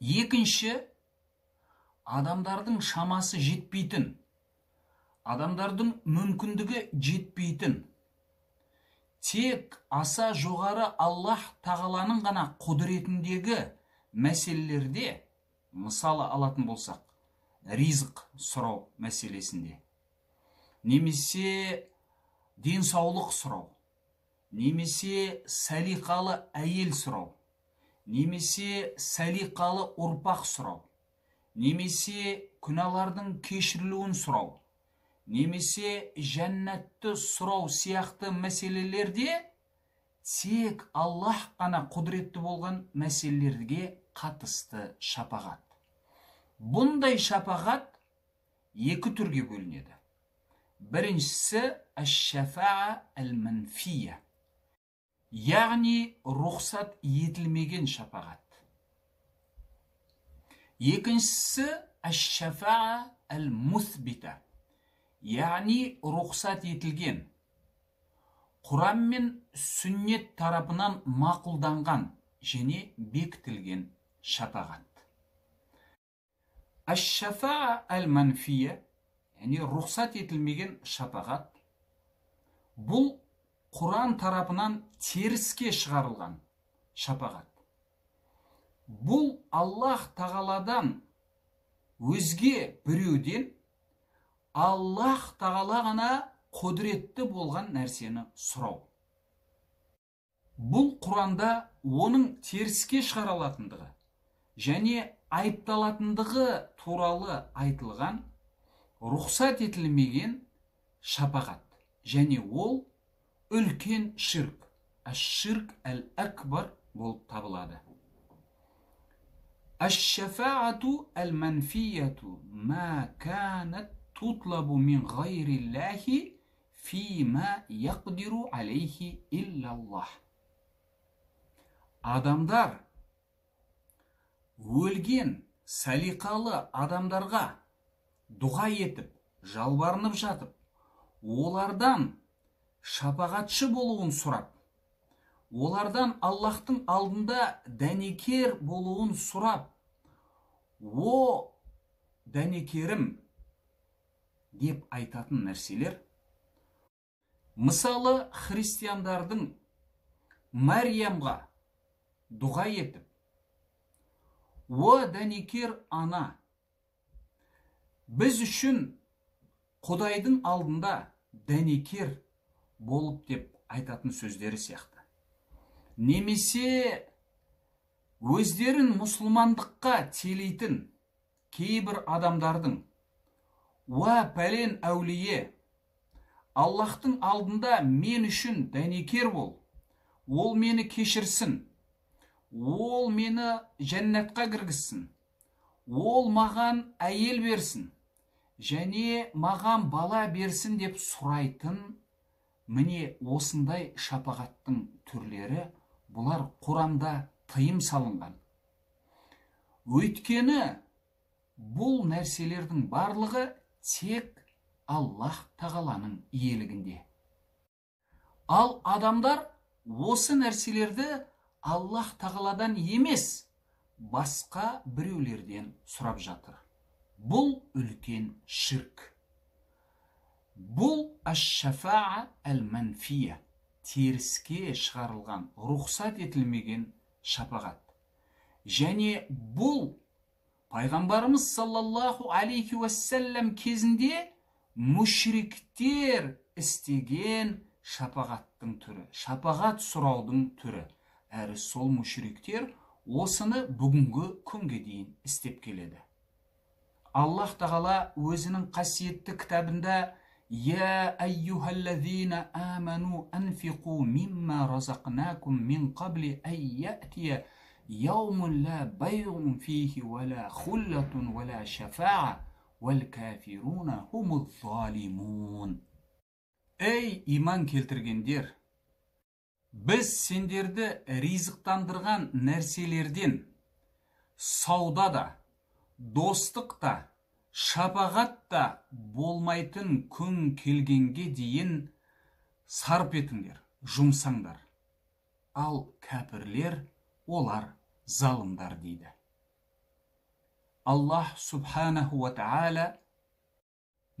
Екінші, адамдардың шамасы жетпейтін, адамдардың мүмкіндігі жетпейтін, тек аса жоғары Аллах тағаланың ғана құдіретіндегі мәселелерде, мысалы алатын болсақ, ризық сұрау мәселесінде, немесе денсаулық сұрау, немесе салиқалы әйел сұрау, немесе салиқалы ұрпақ сұрау, немесе күнәлардың кешірілуін сұрау, немесе жәннатты сұрау сияқты мәселелерде тек Аллах қана құдіретті болған мәселелерге қатысты шапағат. Бұндай шапағат екі түрге бөлінеді. Біріншісі әш-шафаа әл-манфия, яғни рұқсат етілмеген шапағат. Екіншісі әш-шафаа әл-мусбита, яғни рұқсат етілген, Құран мен сүннет тарапынан мақұлданған және бекітілген шапағат. Әш-шафаа әл-манфия, яғни рұқсат етілмеген шапағат, бұл Құран тарапынан теріске шығарылған шапағат. Бұл Аллах тағаладан өзге біреуден Аллах тағала ғана құдіретті болған нәрсені сұрау. Бұл Құранда оның теріске шығарылатындығы және айыпталатындығы туралы айтылған рұқсат етілмеген шапағат, және ол үлкен ширк, әш-ширк әл-акбар болып табылады. Әш-шафаату әл-манфияту ма канат тутлабу мин ғайриллахи фима яқдиру алейхи иллаллах. Адамдар өлген салиқалы адамдарға дұға етіп, жалбарынып жатып, олардан шапағатшы болуын сұрап, олардан Аллахтың алдында дәнекер болуын сұрап, о дәнекерім деп айтатын нәрселер, мысалы христиандардың Мәриямға дұға етіп, о дәнекер ана, біз үшін Құдайдың алдында дәнекер болып деп айтатын сөздері сияқты. Немесе өздерін мұсылмандыққа телейтін кейбір адамдардың, уа пәлен әулие, Аллахтың алдында мен үшін дәнекер бол, ол мені кешірсін, ол мені жәннатқа кіргізсін, ол маған әйел берсін, және маған бала берсін деп сұрайтын, міне осындай шапағаттың түрлері, бұлар Құранда тыйым салынған. Өйткені бұл нәрселердің барлығы тек Аллах тағаланың иелігінде. Ал адамдар осы нәрселерді Аллах тағаладан емес, басқа біреулерден сұрап жатыр. Бұл үлкен ширк. Бұл әш-шафаа әл-манфия, теріске шығарылған, рұқсат етілмеген шапағат. Және бұл пайғамбарымыз саллаллаху алейхи уассалам кезінде мүшриктер істеген шапағаттың түрі, шапағат сұраудың түрі. Әрі сол мүшриктер осыны бүгінгі күнге дейін істеп келеді. Аллах тағала өзінің қасиетті кітабында «Я айюхаллазина аману анфиқу мимма разақнакум мин қабли айятия яумун ла байғун фихи вала хуллатун вала шафаа вал кафируна хумул залимун». Ей иман келтіргендер, біз сендерді ризықтандырған нәрселерден сауда да, достық та, шапағат та болмайтын күн келгенге дейін сарп етіңдер, жұмсаңдар. Ал кәпірлер олар залымдар дейді. Аллах субханаху ва тағала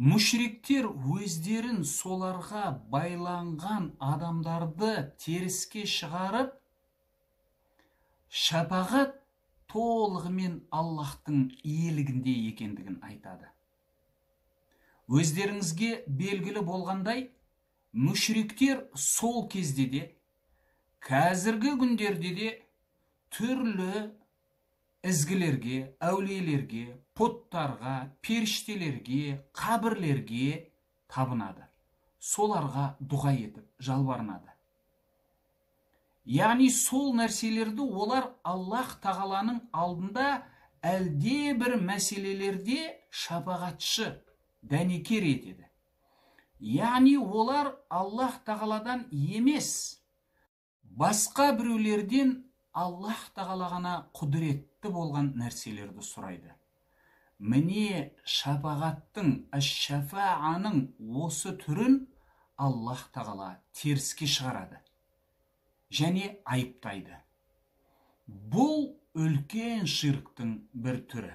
мүшриктер өздерін соларға байланған адамдарды теріске шығарып, шапағат толығымен Аллахтың иелігінде екендігін айтады. Өздеріңізге белгілі болғандай, мүшриктер сол кезде де, қазіргі күндерде де түрлі ізгілерге, әулиелерге, пұттарға, періштелерге, қабірлерге табынады. Соларға дұға етіп, жалбарынады. Яғни сол нәрселерді олар Аллах тағаланың алдында әлде бір мәселелерде шапағатшы, дәнекер етеді. Яғни олар Аллах тағаладан емес, басқа біреулерден Аллах тағалағана құдіретті болған нәрселерді сұрайды. Міне шапағаттың, әш-шафааның осы түрін Аллах тағала теріске шығарады және айыптайды. Бұл үлкен ширктің бір түрі.